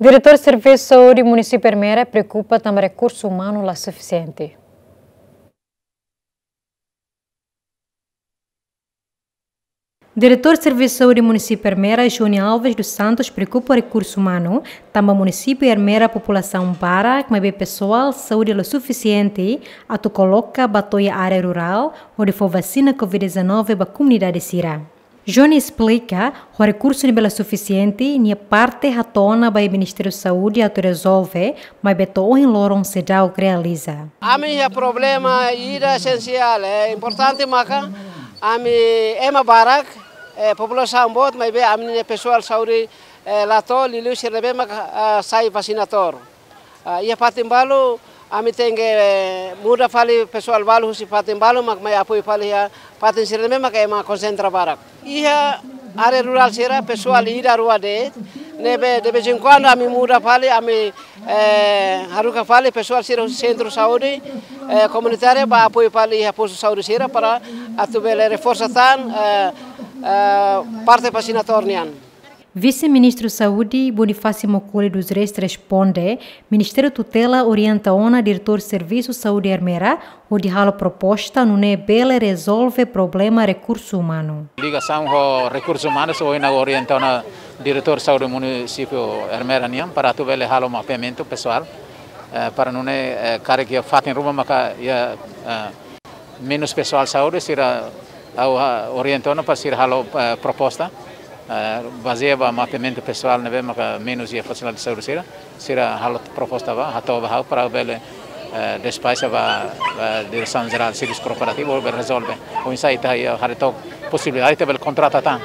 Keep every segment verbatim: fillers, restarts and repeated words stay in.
Diretór Servisu Saúde Munisípiu Ermera preokupa tanba rekursu umanu la sufisiente. Diretór Servisu Saúde Munisípiu Ermera, Johnny Alves dos Santos, preokupa rekursu umanu, tanba munisípiu Ermera populasaun barak, maibé pesoál saúde la sufisiente atu koloka ba to'o iha área rurál, hodi fó vasina covid dezanove ba komunidade sira. Johnny esplika, ho rekursu ne'ebé la sufisiente, nia parte hato'o ona ba iha Ministériu Saúde atu rezolve, maibé to'o ohin loron seidauk realiza. Ami iha problema ida esensiál, eh, importante maka ami ema barak, eh, populasaun boot, maibé ami-nia pesoál saúde, eh, la to'o, liuliu sira ne'ebé maka, ah, sai vasinatór. Ah, iha fatin balu, ami tenke, eh, muda fali pesoál balu husi fatin balu, mak mai apoiu fali iha fatin sira ne'ebé maka ema konsentra barak. Iha área rurál sira, pesoál ida rua de'it, ne'ebé de vez em quando ami muda fali, ami, eh, haruka fali pesoál sira husi sentru saúde, eh, komunitária ba apoiu fali iha postu saúde sira para atu bele reforsa tan, eh, eh, parte vasinatór nian. Vise-Ministru Saúde, Bonifácio Maukole dos Reis, responde, Ministériu tutela orienta ona Diretór Servisu Saúde Ermera, hodi halo proposta nune'e bele rezolve problema rekursu umanu. Ligasaun ho rekursu umanu, so ina orienta ona Diretór Saúde Munisípiu Ermera nian, para atu bele halo mapeamentu pesoál, eh, para nune'e, eh, karik iha fatin ruma maka iha, eh, menus pesoál saúde, sira ha'u, ah, orienta ona para sira halo, eh, proposta, eh, bazeia ba mapeamentu pesoál ne'ebé maka menus iha fasilidade saúde sira, sira halo proposta ba, hato'o ba ha'u para bele, eh, despaxa ba, ba Diresaun Jerál Servisu Korporativu, bele rezolve. Oinsá ita iha haree took posibilidade ita bele kontrata tan.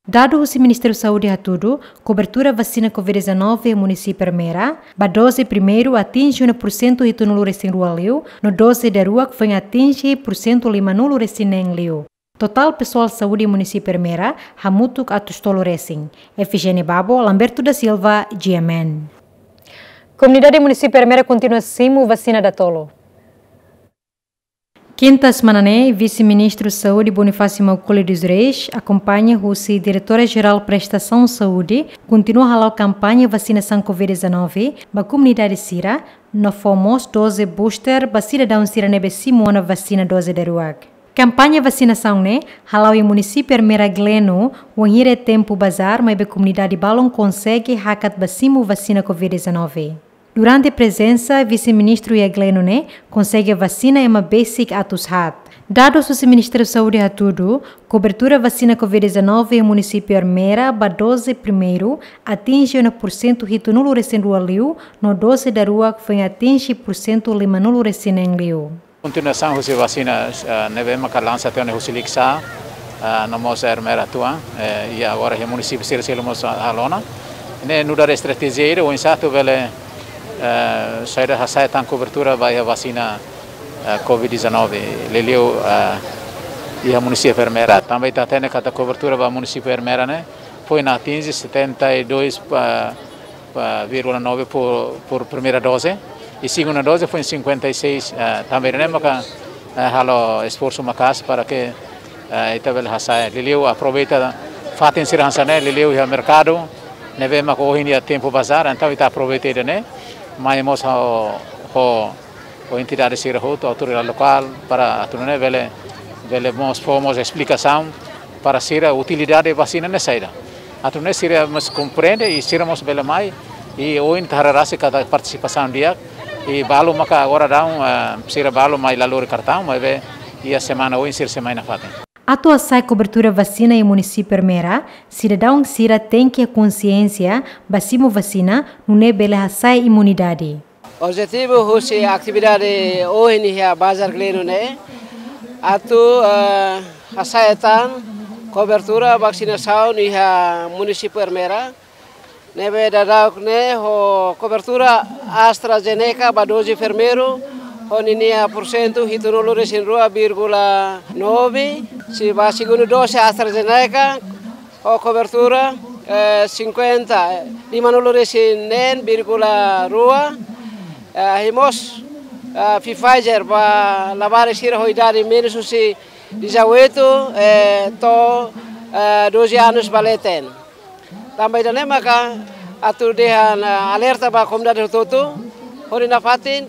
Dadu husi Ministériu Saúde hatudu, kobertura vasina covid dezanove iha munisípiu Ermera, ba doze primeiru atinje ona pursentu hitunulu resin rua liu, no doze daruak foin atinje pursentu limanulu resin neen liu. Totál pesoál saúde munisípiu Ermera hamutuk atus tolu resin. Efigénia Babo, Lamberto da Silva, G M N. Komunidade munisípiu Ermera kontinua simu vasina datoluk. Kinta semana ne'e, Vise-Ministru Saúde Bonifácio Maukole dos Reis, akompaña husi Diretora Jerál Prestasaun Saúde, kontinua hala'o kampaña vasinasaun covid dezanove ba komunidade sira, no fó mós doze booster ba sidadaun sira ne'ebé simu ona vasina doze daruak. Kampaña vasinasaun ne'e hala'o iha munisípiu Ermera Gleno, wainhira iha tempu bazár, maibé komunidade balun konsege hakat ba simu vasina covid dezanove. Durante prezensa Vise-Ministru iha Gleno ne'e, konsege vasina ema besik atus haat. Dadus husi Ministériu Saúde hatudu, kobertura vasina covid dezanove iha munisípiu Ermera ba doze primeiru atinje ona pursentu hitunulu resin rua liu, no doze daruak foin atinje pursentu limanulu resin neen liu. Kontinuasaun husi vasina, eh, ne'ebé maka lansa tiha ona husi Likisá, eh, no mós Ermera Atuan, eh, i agora iha munisípiu sira seluk mós halo ona. Ne'e nu'udar estratéjia ida oinsá atu bele, eh, saida hasa'e tan kobertura ba iha vasina, eh, covid dezanove, liuliu, eh, iha munisípiu Ermera. Tanba ita hatene katak kobertura ba munisípiu Ermera ne'e foin atinje setenta e dois, eh, eh, vírgula nove por, por primeira dose, i segunda dose foin cinquenta e seis, eh, tanba ne'e maka, eh, halo esforsu maka'as para ke, eh, ita bele hasa'e. Liuliu aproveita fatin sira hanesan ne'e, liuliu iha merkadu, ne'ebé maka ohin iha tempu bazár, entaun ita aproveita ida-ne'e, mai mós ho, ho, ho entidade sira hotu, autoridade lokál, para atu nune'e bele, bele mós fó mós esplikasaun para sira utilidade vasina ne'e saida. Atu nune'e sira mós komprende i sira mós bele mai, i ohin ita haree rasik katak partisipasaun di'ak, i balu maka agora daudaun, eh, sira balu mai la lori kartaun, maibé iha semana oin sira sei mai nafatin. Atu hasa'e kobertura vasina iha munisípiu Ermera, sidadaun sira tenke konsiénsia ba simu vasina, nune'e bele hasa'e imunidade. Objetivu husi atividade ohin iha Bazár Gleno ne'e, atu, eh, hasa'e tan kobertura vasinasaun iha munisípiu Ermera, ne'ebé daudauk ne'e ho kobertura AstraZeneca ba doze primeiru, ho ninia pursentu hitunulu resin rua vírgula nove, sei ba segundu dose AstraZeneca, ho kobertura, eh, cinquenta, limanulu resin neen vírgula rua, eh, i mós, eh, Pfizer ba labarik sira ho idade menus husi dezoito, eh, to'o, eh, doze anos ba leten. Tanba ida-ne'e maka Atu dehan alerta ba komunidade hotu-hotu, hodi nafatin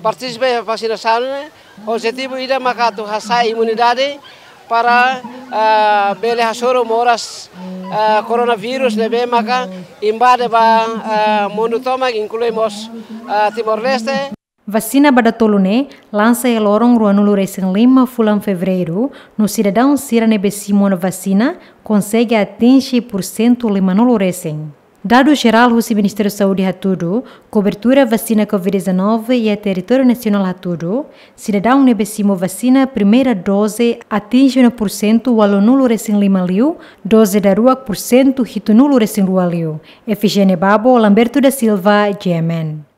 partisipa iha vaksinasi ne'e, objetivu ida maka atu hasa'e imunidade para bele hasoru moras koronavírus ne'ebé maka invade ba mundu tomak, inklui mós Timor-Leste. Vasina ba datoluk ne'e lansa iha loron ruanulu resin lima fulan Fevereiru, no sidadaun sira ne'ebé simu ona vasina konsege atinje pursentu limanulu resin. Dadus jerál husi Ministériu Saúde hatudu, kobertura vasina COVID-19 iha territóriu nasionál hatudu, sidadaun ne'ebé simu vasina primeira doze atinje ona pursentu ualunulu resin lima liu, doze daruak pursentu hitunulu resin rua liu. Efigénia Babo, Lamberto da Silva, G M N.